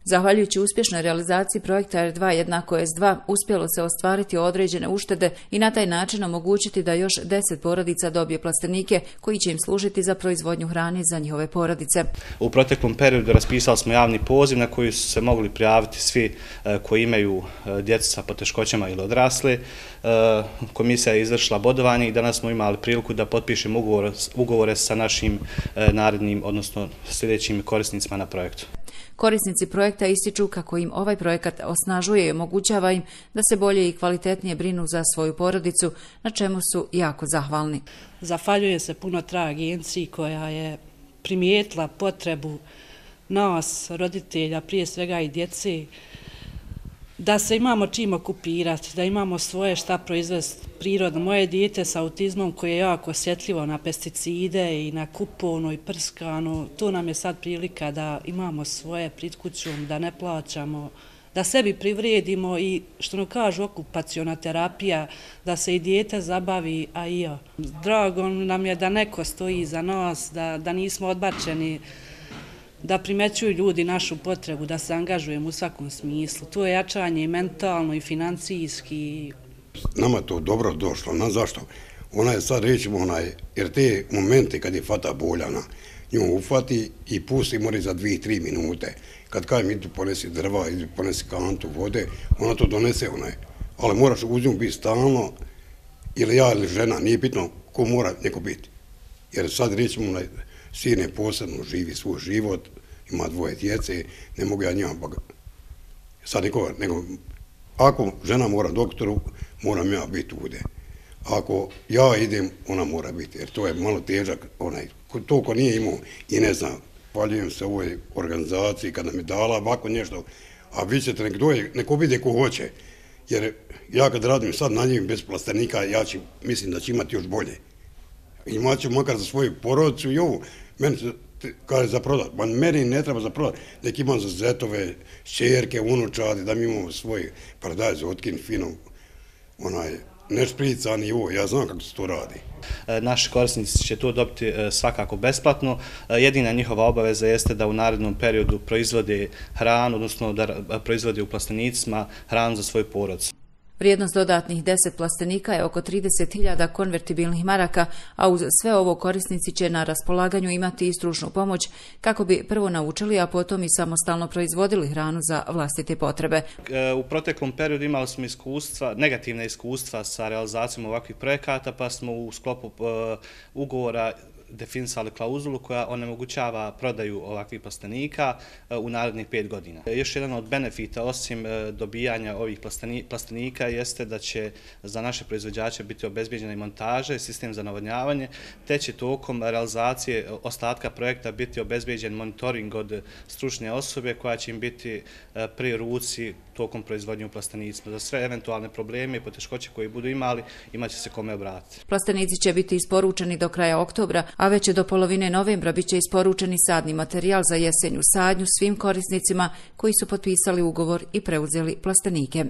Zahvaljujući uspješnoj realizaciji projekta R2 jednako S2 uspjelo se ostvariti određene uštede i na taj način omogućiti da još 10 porodica dobije plastenike koji će im služiti za proizvodnju hrane za njihove porodice. U proteklom periodu raspisali smo javni poziv na koji su se mogli prijaviti svi koji imaju djecu sa poteškoćama ili odrasle. Komisija je izvršila bodovanje i danas smo imali priliku da potpišemo ugovore sa našim narednim, odnosno sljedećim korisnicima na projektu. Korisnici projekta ističu kako im ovaj projekat osnažuje i omogućava im da se bolje i kvalitetnije brinu za svoju porodicu, na čemu su jako zahvalni. Zahvaljujem se puno agenciji koja je primijetila potrebu nas, roditelja, prije svega i djece, da se imamo čim okupirati, da imamo svoje šta proizvesti prirodno. Moje dijete sa autizmom koje je jako osjetljivo na pesticide i na kupovnu i prskanu, to nam je sad prilika da imamo svoje pred kućom, da ne plaćamo, da sebi privredimo i što nam kažu okupaciona terapija, da se i dijete zabavi, a i ja. Drago nam je da neko stoji iza nas, da nismo odbačeni, da primećuju ljudi našu potrebu, da se angažujemo u svakom smislu. To je jačanje i mentalno i financijski. Nama je to dobro došlo, na zašto? Ona je sad rećemo jer te momente kad je fata boljana, nju ufati i pusti mori za 2-3 minute. Kad kajem idu ponesi drva, idu ponesi kantu vode, ona to donese ali moraš uz nju biti stalno, ili ja ili žena, nije bitno ko mora neko biti. Jer sad rećemo sin je posebno, živi svoj život, ima 2 djece, ne mogu ja njima sad nikoga, nego ako žena mora doktoru, moram ja biti ovdje. Ako ja idem, ona mora biti, jer to je malo težak, to ko nije imao i ne znam, hvaljujem se ovoj organizaciji kada mi dala ovako nešto, a vi ćete neko vide ko hoće, jer ja kad radim sad na njim bez plastenika, mislim da će imati još bolje. Imat ću makar za svoju porodicu i ovo. Meni se kaže za prodat. Meni ne treba za prodat. Nek imam za zetove, šćerke, unučadi, da mi imamo svoj paradajz otkin fino, ne šprican i ovo. Ja znam kako se to radi. Naši korisnici će to dobiti svakako besplatno. Jedina njihova obaveza jeste da u narednom periodu proizvode hranu, odnosno da proizvode u plastenicima hranu za svoju porodicu. Vrijednost dodatnih 10 plastenika je oko 30.000 konvertibilnih maraka, a uz sve ovo korisnici će na raspolaganju imati i stručnu pomoć kako bi prvo naučili, a potom i samostalno proizvodili hranu za vlastite potrebe. U proteklom periodu imali smo negativne iskustva sa realizacijom ovakvih projekata, pa smo u sklopu ugovora definisali klauzulu koja onemogućava prodaju ovakvih plastenika u narednih 5 godina. Još jedan od benefita osim dobijanja ovih plastenika jeste da će za naše proizvođače biti obezbijeđena i montaža i sistem za navodnjavanje, te će tokom realizacije ostatka projekta biti obezbijeđen monitoring od stručne osobe koja će im biti pri ruci tokom proizvodnje u plastenicima. Za sve eventualne probleme i poteškoće koje budu imali, imat će se kome obratiti. Plastenici će biti isporučeni do kraja oktobra, a već do polovine novembra biće isporučeni sadni materijal za jesenju sadnju svim korisnicima koji su potpisali ugovor i preuzeli plastenike.